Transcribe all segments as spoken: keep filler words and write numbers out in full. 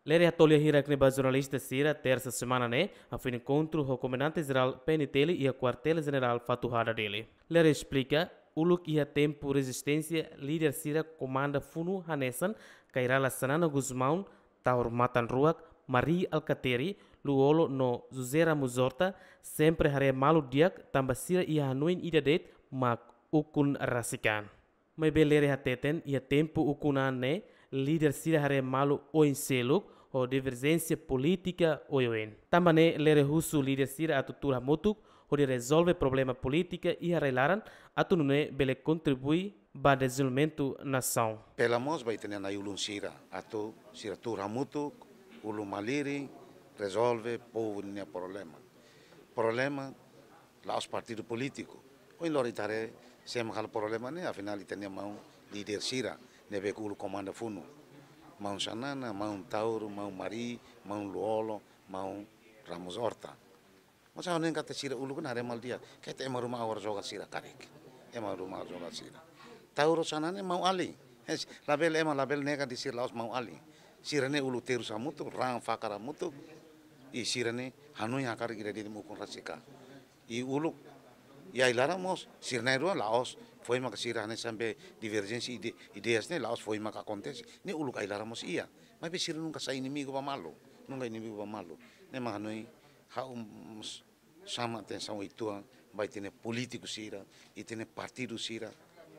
Lere hato'o lia hirak ne'e ba jornalista sira, tersa semana ne'e, hafoin enkontru ho Komandante Jerál P N T L iha Kuartél Jenerál Fatuhada, Dili. Lere esplika, uluk iha tempu rezisténsia, líder sira komanda funu hanesan Kay Rala Xanana Gusmão, Taur Matan Ruak, Mari Alkatiri, Lú-Olo no José Ramos Horta, sempre haree malu di'ak tanba sira iha hanoin ida de'it mak ukun rasik an. Maibé Lere hateten, iha tempu ukun an ne'e, líder sira haree malu oin seluk, ho diverjénsia polítika oioin. Tanba ne'e Lere husu líder sira atu tuur hamutuk, hodi rezolve problema polítika iha rai-laran, atu nune'e bele kontribui ba dezenvolvimentu nasaun. Apela mós ba ita-nia na'i-ulun sira, atu sira tuur hamutuk, ulun malirin, rezolve povu nia problema. Problema la'ós partidu polítiku. Ohin loron ita haree sé mak halo problema ne'e, afinál ita-nia maun líder sira ne'ebé uluk komanda funu. Maun Xanana, maun Taur, maun Mari, maun Lú-Olo, maun Ramos Horta. Mas ha'u hanoin katak sira uluk ne'e haree malu di'ak. Katak ema ruma agora joga sira karik. Ema ruma agora joga sira. Taur ho Xanana ne'e maun-alin. Hes, labele ema labele nega dehan sira la'ós maun-alin. Sira ne'e uluk terus hamutuk, raan fakar hamutuk. I sira ne'e hanoin hakarak ida de'it mak ukun rasik an. I uluk, i ai-laran mós, sira na'in-rua la'ós foin maka sira hanesan be diverjénsia ide-, ideias ne'e la'ós foin maka akontese. Ne'e uluk ai-laran mós iha. Maibé sira nunka sai inimigu ba malu. Nunka inimigu ba malu. Ne'e mak hanoin ha'u mós xama atensaun uitoan ba ita-nia polítiku sira, ita-nia partidu sira,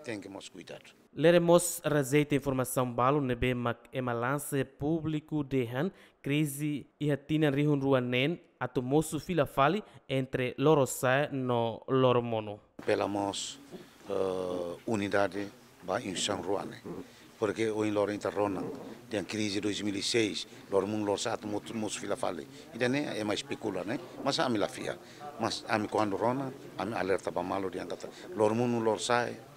tenke mós kuidadu. Lere mós rejeita informasaun balu ne'ebé mak ema lansa públiku dehan krize iha tinan rihun rua neen atu mosu fila fali entre Lorosa'e no Loromonu. Apela mós, eh, unidade ba instituisaun rua ne'e. Porque ohin loron ita rona, dehan krize dois mil e seis, Loromonu Lorosa'e atu motu-, mosu fila fali. Ida-ne'e ema espekula ne'e, mas ami la fiar. Mas ami kuandu rona, ami alerta ba malu dehan katak Loromonu Lorosa'e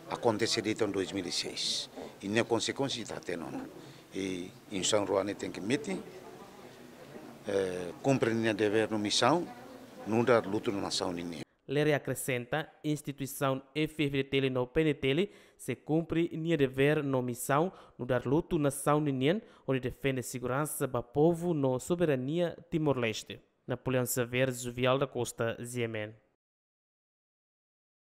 akontese de'it iha dois mil e seis. I nia konsekuénsia ita hatene ona. I instituisaun rua ne'e tenke metin, eh, kumpre nia devér no misaun, nu'udar lutu nasaun ninian. Lere akresenta, instituisaun F-FDTL no PNTL sei kumpre nia devér no misaun nu'udar lutu nasaun ninian, hodi defende seguransa ba povu no soberania Timor-Leste. Napoleão Xavier, Juvial da Costa, G M N.